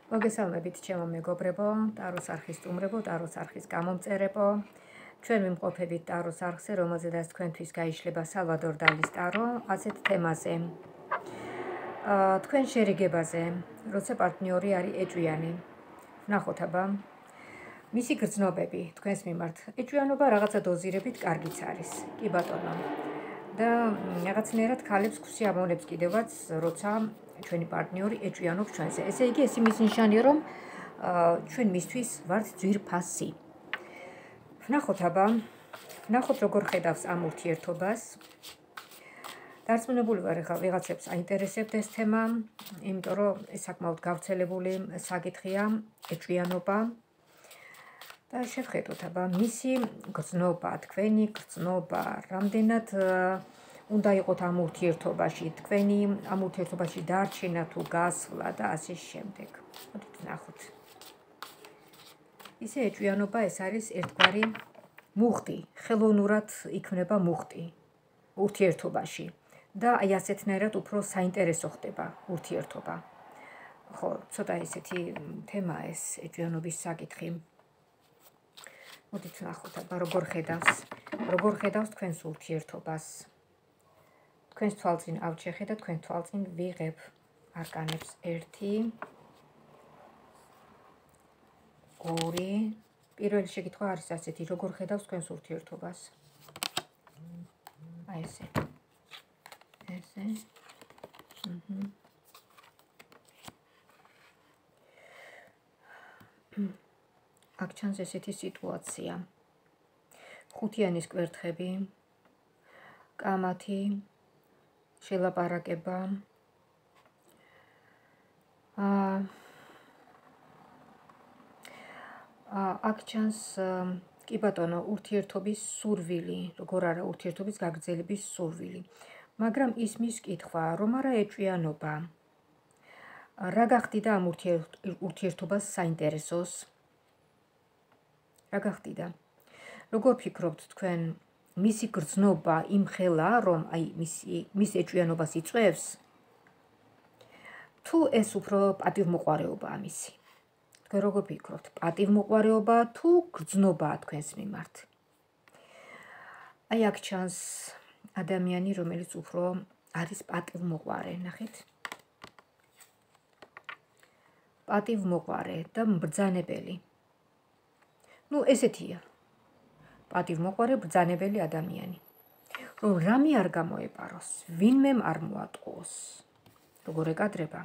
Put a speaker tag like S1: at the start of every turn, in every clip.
S1: მოგესალმებით ჩემო მეგობრებო, ტაროს არხის სტუმრებო, ტაროს არხის გამომწერებო. ჩვენ ვიმყოფებით ტაროს არხზე, რომელზედაც თქვენთვის გაიშლება სალვადორ დალის ტარო, ასეთ თემაზე. თქვენ შერიგებაზე, როცა პარტნიორი არის ეჭვიანი. ვნახოთ აბა, მისი გრძნობები თქვენს მიმართ. ეჭვიანობა რაღაცა დოზირებით კარგიც არის. კი ბატონო. და რაღაცნაირად ქალებს ქსიამოვნებს კიდევაც, როცა ჩვენი პარტნიორი ეჭვიანობს ჩვენზე. ესე იგი, ეს იმის ნიშანია, რომ ჩვენ მისთვის ვართ ძვირფასი. ვნახოთ აბა, ვნახოთ როგორ ხედავს ამ ურთიერთობას. დარწმუნებული ვარ, ეხლა ვიღაცებს აინტერესებთ ეს თემა, იმიტომ რომ ეს საკმაოდ გავრცელებული საკითხია, ეჭვიანობა. და შევხედოთ აბა, მისი გრძნობა, თქვენი გრძნობა, რამდენად უნდა იყოთ ამ ურთიერთობაში, თქვენი ამ ურთიერთობაში დარჩენა თუ გასვლა და ასე შემდეგ. მოდით ვნახოთ. ისე ეჭვიანობა ეს არის ერთგვარი მუხტი, ხელოვნურად იქმნება მუხტი ურთიერთობაში და აი ასეთნაირად უფრო საინტერესო ხდება ურთიერთობა. ხო, ცოტა ესეთი თემაა ეს ეჭვიანობის საკითხი. მოდით ვნახოთ აბა, როგორ ხედავს თქვენს ურთიერთობას. თქვენს თვალწინ ავჩეხე და თქვენ თვალწინ ვიღებ არკანებს 1 2 პირველი შეკითხვა არის ასეთი, როგორ ხედავს თქვენს ურთიერთობას. აი ესე. აქ ჩანს ესეთი სიტუაცია. ხუთიანის კვერთხები, კამათი, შელაპარაკება. აქ ჩანს კი ბატონო, ურთიერთობის სურვილი, როგორ არა ურთიერთობის გაგრძელების სურვილი. მაგრამ ისმის კითხვა, რომ არა ეჭვიანობა. რა გახდიდა ამ ურთიერთობას საინტერესოს? რა გახდიდა? როგორ ფიქრობთ თქვენ, მისი გრძნობა იმხელა, რომ აი მის ეჭვიანობას იწვევს? თუ ეს უფრო პატივმოყვარეობაა მისი? თქვენ როგორ ფიქრობთ, პატივმოყვარეობა თუ გრძნობაა თქვენს მიმართ? აი აქ ჩანს ადამიანი, რომელიც უფრო არის პატივმოყვარე, ნახეთ? პატივმოყვარე და მბრძანებელი. ნუ ესეთია. პატივმოყვარე, ბრძანებელი ადამიანი. რომ რამე არ გამოეპაროს, ვინმე არ მოატყუოს. როგორ ეკადრება?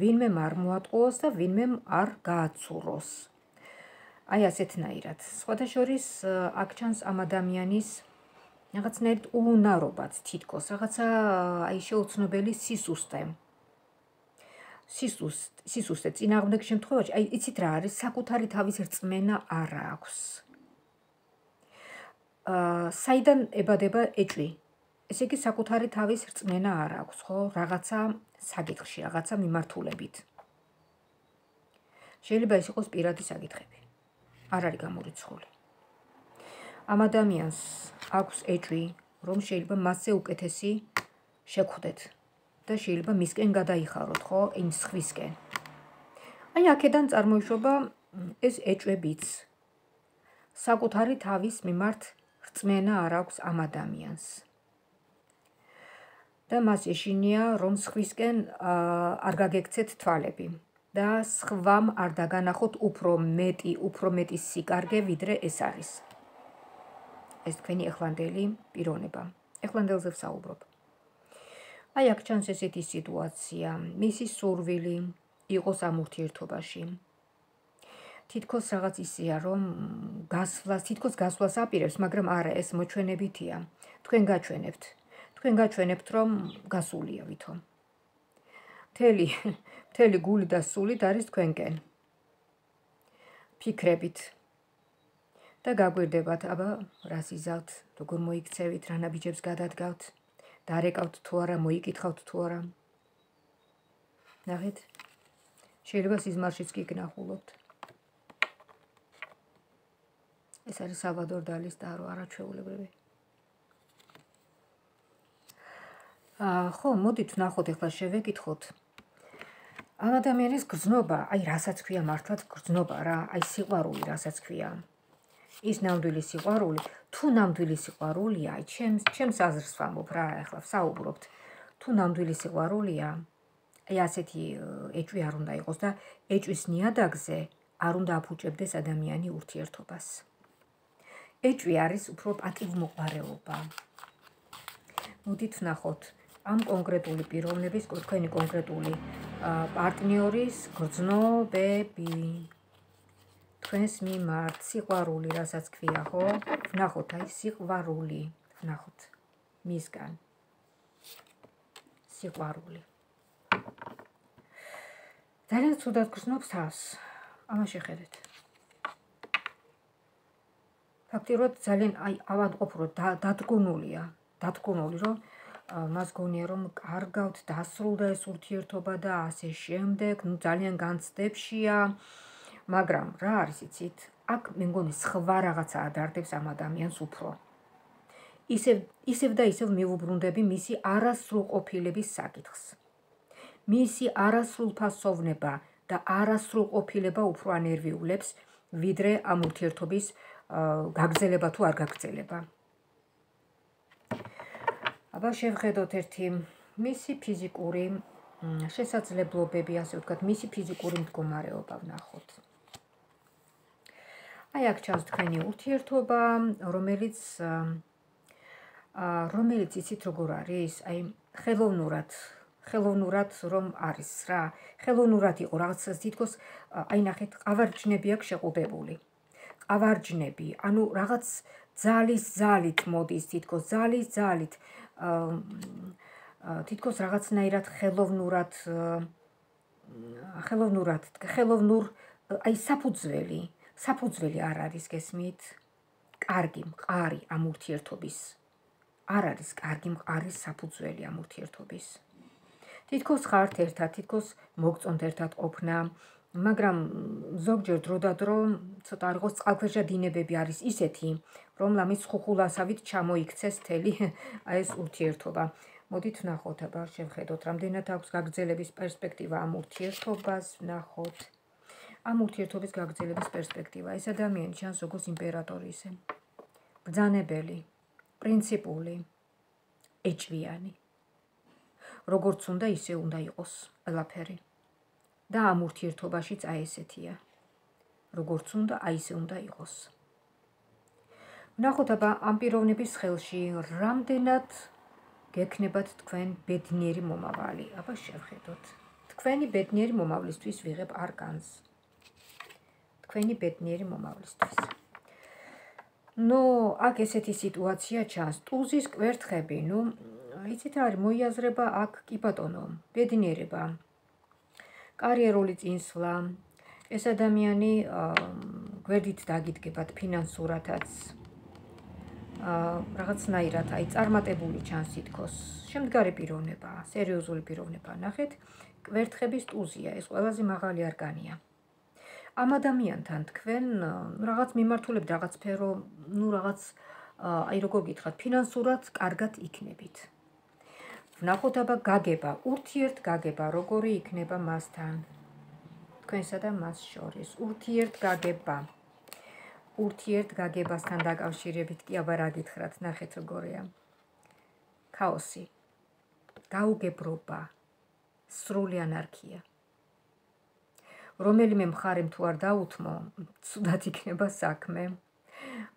S1: ვინმე არ მოატყუოს და ვინმე არ გააცუროს. აი ასეთნაირად. სხვათა შორის აქ ჩანს ამ ადამიანის რაღაცნაირად უუნარობაც თითქოს, რაღაცა აი შეუცნობელი სისუსტე. სისუსტე წინააღმდეგ შემთხვევაში, აი იცით რა არის, საკუთარი თავის რწმენა არ აქვს. საიდან ებადება ეჭვი? ესე იგი საკუთარი თავის რწმენა არ აქვს, ხო? რაღაცა საკითხში, რაღაცა მიმართულებით. შეიძლება ეს იყოს პირადი საკითხები. არ არის გამორიცხული. ამ ადამიანს აქვს ეჭვი, რომ შეიძლება მასზე უკეთესი შეგხვდეთ და შეიძლება მისკენ გადაიხაროთ, ხო, იმ სხვისკენ. აი აქედან წარმოიშობა ეს ეჭვებიც. საკუთარი თავის მიმართ რწმენა არ აქვს ამ ადამიანს. და მას ეშინია, რომ სხვისკენ არ გაგექცეთ თვალები და სხვამ არ დაგანახოთ უფრო მეტი სიკარგე, ვიდრე ეს არის. ეს თქვენი ეხლანდელი პიროვნება. ეხლანდელზე ვსაუბრობ. აი აქ ჩანს ესეთი სიტუაცია, მისი სურვილი იყოს ამ ურთიერთობაში. თითქოს რაღაც ისეა, რომ თითქოს გასვლას აპირებს, მაგრამ არა, ეს მოჩვენებითია. თქვენ გაჩვენებთ, რომ გასულია ვითომ. მთელი გული და სულით არის თქვენკენ. ფიქრებით. და გაგვირდებათ, აბა, რას იზავთ, როგორ მოიქცევით, რა ნაბიჯებს გადადგავთ, დარეკავთ თუ არა, მოიკითხავთ თუ არა. ნახეთ, შეიძლება სიზმარშიც კი გნახულობთ. ეს არის სალვადორ დალის ტარო, არაჩვეულებრივი. ხო, მოდით ვნახოთ, ეხლა შევეკითხოთ. ამ ადამიანის გრძნობა, აი რასაც ქვია მართლაც გრძნობა რა, აი სიყვარული რასაც ქვია. ის ნამდვილი სიყვარული, თუ ნამდვილი სიყვარულია, აი ჩემს აზრს ვამბობ რა, ახლა ვსაუბრობთ. თუ ნამდვილი სიყვარულია, აი ასეთი ეჭვი არ უნდა იყოს და ეჭვის ნიადაგზე არ უნდა აფუჭებდეს ადამიანი ურთიერთობას. ეჭვი არის უფრო პატივმოყვარეობა. მოდით ვნახოთ ამ კონკრეტული პიროვნების, თქვენი კონკრეტული პარტნიორის გრძნობები. თქვენს მიმართ სიყვარული, რასაც ქვია, ხო? ვნახოთ აი სიყვარული, ვნახოთ მისგან. სიყვარული. ძალიან ცუდად გრძნობს თავს. ამაში ხედეთ. ფაქტიურად ძალიან აი ავადმყოფ რომ დადგუნული რომ მას გონია რომ კარგავთ დასრულდა ეს ურთიერთობა და ასე შემდეგ, ნუ ძალიან განცდებშია, მაგრამ რა არის იცით? აქ მე მგონი სხვა რაღაცა ადარდებს ამ ადამიანს უფრო. ისევ და ისევ მივუბრუნდები მისი არასრულყოფილების საკითხს. მისი არასრულფასოვნება და არასრულყოფილება უფრო ანერვიულებს, ვიდრე ამ ურთიერთობის გაგრძელება თუ არ გაგრძელება. აბა შევხედოთ ერთი მისი ფიზიკური შესაძლებლობები, ასე ვთქვათ, მისი ფიზიკური მდგომარეობა ვნახოთ. აი აქ ჩანს თქვენი ურთიერთობა, რომელიც იცით როგორ არის? აი ხელოვნურად რომ არის რა. ხელოვნურად იყო რაღაცას თითქოს აი ნახეთ, ყავარჯნები აქვს შეყუდებული. ყავარჯნები, ანუ რაღაც ძალით მოდის, თითქოს ძალით თითქოს რაღაცნაირად ხელოვნურ აი საფუძველი არ არის გესმით? კარგი მყარი ამ ურთიერთობის. არ არის კარგი მყარი საფუძველი ამ ურთიერთობის. თითქოს ხართ ერთად, თითქოს მოგწონთ ერთად ყოფნა, მაგრამ ზოგჯერ დრო და დრო ცოტა არ იყოს წყალქვეშა დინებები არის ისეთი, რომ ლამის ხუხულასავით ჩამოიქცეს მთელი ეს ურთიერთობა. მოდით ვნახოთ, აბა შევხედოთ, რამდენად აქვს გაგრძელების პერსპექტივა ამ ურთიერთობას, ვნახოთ. ამ ურთიერთობის გაგრძელების პერსპექტივა. ეს ადამიანი ჩანს როგორც იმპერატორი ისე. ბრძანებელი, პრინციპული, ეჭვიანი. როგორც უნდა, ისე უნდა იყოს ყველაფერი. და ამ ურთიერთობაშიც აი ესეთია. როგორც უნდა, აი ესე უნდა იყოს. ვნახოთ, აბა ამ პიროვნების ხელში რამდენად გექნებათ თქვენ ბედნიერი მომავალი. აბა შევხედოთ. თქვენი ბედნიერი მომავლისთვის ვიღებ არკანს. თქვენი ბედნიერი მომავლისთვის. ნუ აქ ესეთი სიტუაცია ჩანს. ტუზის კვერთხები, ნუ იცით რა არის, მოიაზრება აქ კი ბატონო, ბედნიერება. კარიერული წინსვლა. ეს ადამიანი გვერდით დაგიდგებათ ფინანსურათაც. რაღაცნაირად აი წარმატებული ჩანს თითქოს. შემდგარი პიროვნება, სერიოზული პიროვნება. ნახეთ, კვერთხების ტუზია, ეს ყველაზე მაღალი არკანია. ამ ადამიანთან თქვენ რაღაც მიმართულებით, რაღაც სფერო, ნუ რაღაც აი როგორ გითხრათ, ფინანსურად კარგად იქნებით. ვნახოთ აბა გაგება, ურთიერთგაგება, როგორი იქნება მასთან. თქვენსა და მას შორის ურთიერთგაგება. ურთიერთგაგებასთან დაკავშირებით კი აბა რა გითხრათ, ნახეთ როგორია. ქაოსი, გაუგებრობა, სრული ანარქია. რომელიმე მხარემ თუ არ დაუთმო, ცუდად იქნება საქმე.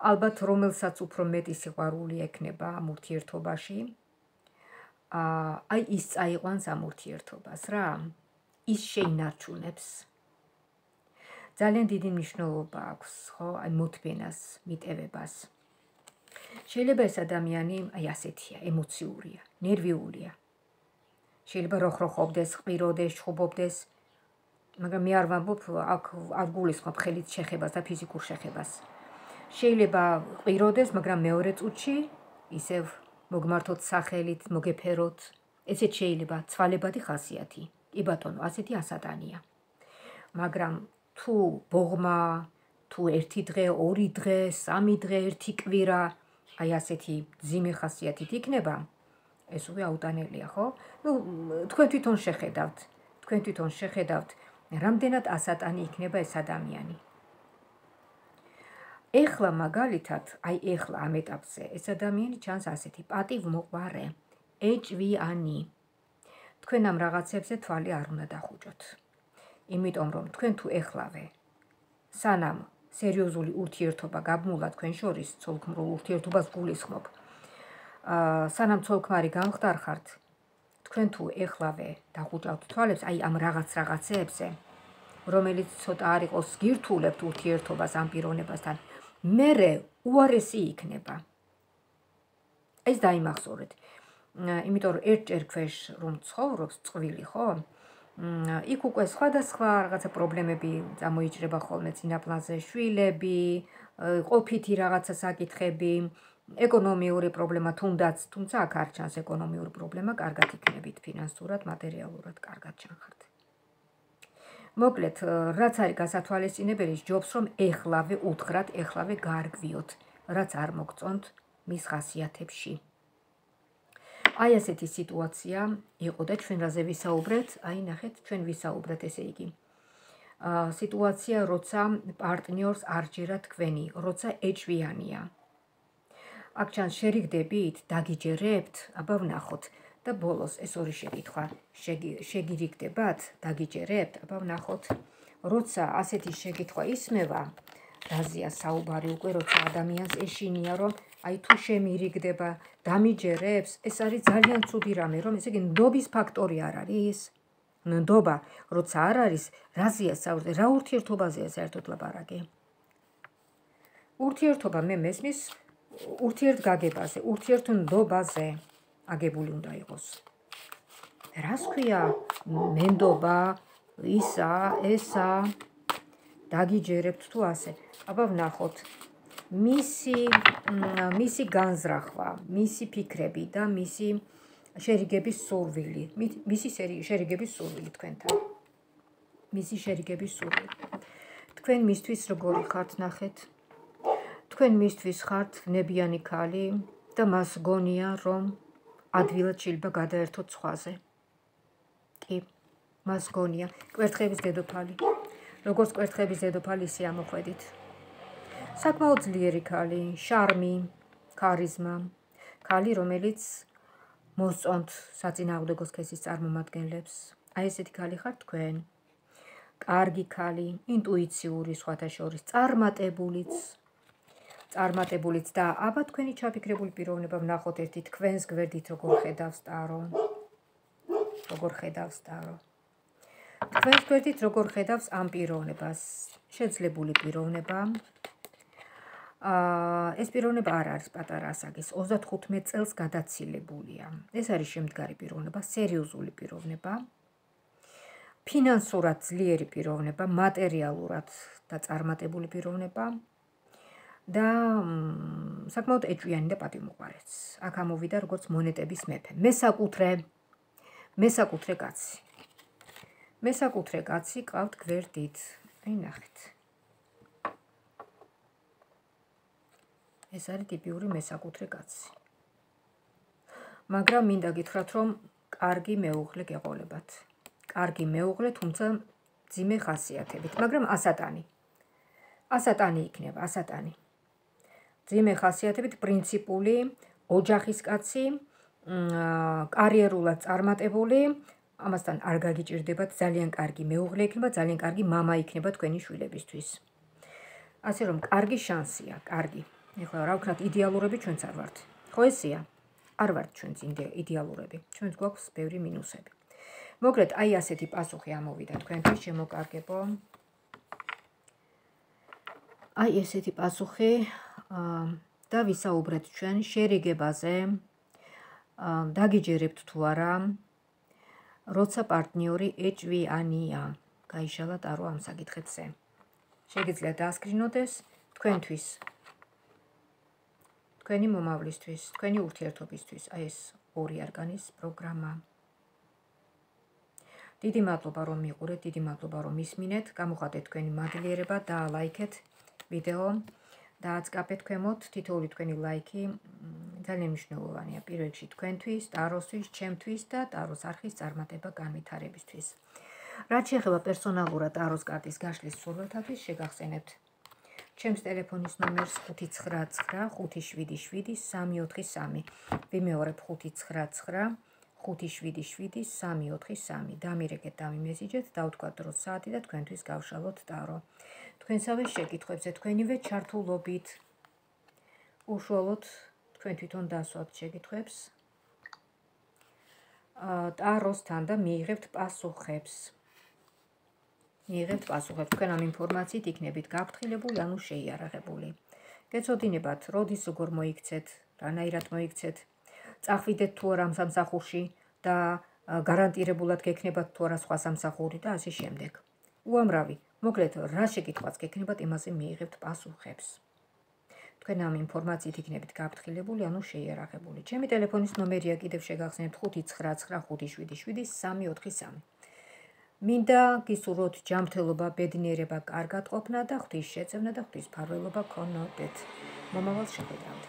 S1: ალბათ რომელსაც უფრო მეტი სიყვარული ექნება ამ ურთიერთობაში, აი ის წაიყვანს ამ ურთიერთობას რა, ის შეინარჩუნებს. ძალიან დიდი მნიშვნელობა აქვს, ხო, აი მოთმენას, მიტევებას. შეიძლება ეს ადამიანი აი ასეთია, ემოციურია, ნერვიულია. შეიძლება როხროხობდეს, ყიროდეს, ჩხუბობდეს, მაგრამ მე არ ვამბობ აქ არ გულისხმობ ხელით შეხებას და ფიზიკურ შეხებას. შეიძლება ყიროდეს, მაგრამ მეორე წუთში ისევ მოგმართოთ სახელით, მოგეფეროთ. ესეც შეიძლება ცვალებადი ხასიათი. კი ბატონო, ასეთი ასატანია. მაგრამ თუ ბოღმა, თუ ერთი დღე, ორი დღე, სამი დღე, ერთი კვირა, აი ასეთი ძიმე ხასიათით იქნება, ეს უკვე აუტანელია, ხო? ნუ თქვენ თვითონ შეხედავთ. თქვენ თვითონ შეხედავთ, რამდენად ასატანი იქნება ეს ადამიანი. ეხლა მაგალითად, ეხლა ამ ეტაპზე ეს ადამიანი ჩანს ასეთი პატივმოყვარე, ეჭვიანი. თქვენ ამ რაღაცებზე თვალი არ უნდა დახუჭოთ. იმიტომ რომ თქვენ თუ ეხლავე სანამ სერიოზული ურთიერთობა გაბმულა თქვენ შორის, ცოლქმრულ ურთიერთობას გულისხმობ, სანამ ცოლქმარი გამხდარხართ, თქვენ თუ ეხლავე დახუჭავთ თვალებს ამ რაღაცებზე, რომელიც ცოტა არ იყოს გირთულებთ ურთიერთობას ამ პიროვნებასთან, მერე უარესი იქნება. ეს დაიმახსოვრეთ. იმიტომ რომ ერთჯერ ქვეშ რომ ცხოვრობს წყვილი, ხო? იქ უკვე სხვადასხვა რაღაცა პრობლემები წამოიჭრება ხოლმე წინაპლანზე, შვილები, ყოფითი რაღაცა საკითხები, ეკონომიური პრობლემა თუნდაც, თუმცა აქ არ ჩანს ეკონომიური პრობლემა, კარგად იქნებით ფინანსურად, მატერიალურად კარგად ჩანხართ. მოკლედ, რაც არის გასათვალისწინებელი, ჯობს რომ ეხლავე უთხრათ, ეხლავე გაარკვიოთ, რაც არ მოგწონთ მის ხასიათებში. ასეთი სიტუაცია იყო და ჩვენ რაზე ვისაუბრეთ? ნახეთ, ჩვენ ვისაუბრეთ, ესე იგი. სიტუაცია, როცა პარტნიორს არ ჯერა თქვენი, როცა ეჭვიანია. აქ ჩანს შერიგდებით, დაგიჯერებთ, აბა ვნახოთ. და ბოლოს ეს ორი შეკითხვა შეგირიგდებათ, დაგიჯერებთ, აბა ვნახოთ. როცა ასეთი შეკითხვა ისმევა, რაზეა საუბარი უკვე, როცა ადამიანს ეშინია, რომ თუ შემირიგდება, დამიჯერებს, ეს არის ძალიან ცუდი რამე, რომ ესე იგი ნდობის ფაქტორი არ არის. ნდობა, როცა არ არის, რაზეა საუბარი, რა ურთიერთობაზეა საერთოდ ლაპარაკი? ურთიერთობა მე მესმის ურთიერთგაგებაზე, ურთიერთნდობაზე აგებული უნდა იყოს. რას ქვია? მენდობა, ისა, ესა, დაგიჯერებთ თუ ასე. აბა ვნახოთ. მისი განზრახვა, მისი ფიქრები და მისი შერიგების სურვილი. მისი შერიგების სურვილი თქვენთან. მისი შერიგების სურვილი. თქვენ მისთვის როგორი ხართ, ნახეთ. თქვენ მისთვის ხართ ნებიანი ქალი და მას გონია, რომ ადვილად შეიძლება გადაერთოთ სხვაზე. კი, მას გონია. კვერთხების დედოფალი. როგორც კვერთხების დედოფალი, ისე ამოხვედით. საკმაოდ ძლიერი ქალი, შარმი, ქარიზმა. ქალი, რომელიც მოსწონთ საწინააღმდეგო სქესის წარმომადგენლებს. ესეთი ქალი ხართ თქვენ. კარგი ქალი, ინტუიციური სხვათა შორის, წარმატებულიც და აბა თქვენი ჩაფიქრებული პიროვნება ვნახოთ ერთი თქვენს გვერდით როგორ ხედავს ტარო. თქვენს გვერდით როგორ ხედავს ამ პიროვნებას. შეძლებული პიროვნება. ეს პიროვნება არ არის პატარა ასაკის, 35 წელს გადაცილებულია. ეს არის შემდგარი პიროვნება, სერიოზული პიროვნება. ფინანსურად ძლიერი პიროვნება, მატერიალურად და წარმატებული პიროვნება. და საკმაოდ ეჭვიანი და პატივმოყვარეც. აქ ამოვიდა როგორც მონეტების მეფე. მესაკუთრე კაცი. მესაკუთრე კაცი ყავთ გვერდით. ნახეთ. ეს არის ტიპიური მესაკუთრე კაცი. მაგრამ მინდა გითხრათ, რომ კარგი მეუღლე გეყოლებათ. კარგი მეუღლე, თუმცა მძიმე ხასიათებით, მაგრამ ასატანი. ასატანი იქნება, ასატანი. მძიმე ხასიათებით, პრინციპული, ოჯახის კაცი, კარიერულად წარმატებული, ამასთან არ გაგიჭირდებათ, ძალიან კარგი მეუღლე იქნება, ძალიან კარგი მამა იქნება თქვენი შვილებისთვის. ასე რომ კარგი შანსია, კარგი. ეხლა რა ვქნათ, იდეალურები ჩვენც არ ვართ. ხო ესეა? არ ვართ ჩვენც იდეალურები. ჩვენც გვაქვს ბევრი მინუსები. მოკლედ, ასეთი პასუხი ამოვიდა თქვენთვის, შემოკარგებო. ესეთი პასუხი და ვისაუბრეთ ჩვენ შერიგებაზე. დაგიჯერებთ თუ არა, როცა პარტნიორი ეჭვიანია. გაიშალა ტარო ამ საკითხებზე. შეგიძლიათ დაასკრინოთ ეს თქვენთვის. თქვენი მომავლისთვის, თქვენი ურთიერთობისთვის, ეს ორი არკანის პროგრამა. დიდი მადლობა რომ მიყურეთ, დიდი მადლობა რომ ისმინეთ, გამოხატეთ თქვენი მადლიერება და ლაიქეთ ვიდეო და აწყაბეთ ქვემოთ თითოეული თქვენი ლაიქი ძალიან მნიშვნელოვანია პირველ რიგში თქვენთვის, ტაროსთვის, ჩემთვის და ტაროს არხის წარმატება განვითარებისთვის. რაც შეეხება პერსონალურად ტაროს კარტის გაშლის სურვილთათვის, შეგახსენებთ ჩემს ტელეფონის ნომერს 599577343. ვიმეორებ 599577343. დამირეკეთ, დამიმესიჯეთ, დავთქვათ დროს საათი და თქვენთვის გავშალოთ ტარო. თქვენსავე შეკითხვებზე თქვენივე ჩართულობით უშუალოდ თქვენ თვითონ დასვათ შეკითხვებს ტაროსთან და მიიღებთ პასუხებს. თქვენ ამ ინფორმაციით იქნებით გაფრთხილებული, ანუ შეიარაღებული. გეცოდინებათ, როდის როგორ მოიქცეთ, რანაირად მოიქცეთ, წახვიდეთ თუ არა ამ სამსახურში და გარანტირებულად გექნებათ თუ არა სხვა სამსახური და ასე შემდეგ. უამრავი, მოკლედ, რა შეკითხვაც გექნებათ, იმაზე მიიღებთ პასუხებს. თქვენ ამ ინფორმაციით იქნებით გაფრთხილებული, ანუ შეიარაღებული. ჩემი ტელეფონის ნომერია კიდევ შეგახსენებთ 599577343. მინდა გისურვოთ ჯანმრთელობა, ბედნიერება, კარგად ყოფნა და ღვთის შეწევნა და ღვთის მფარველობა გქონოდეთ. მომავალ შეხვედრამდე.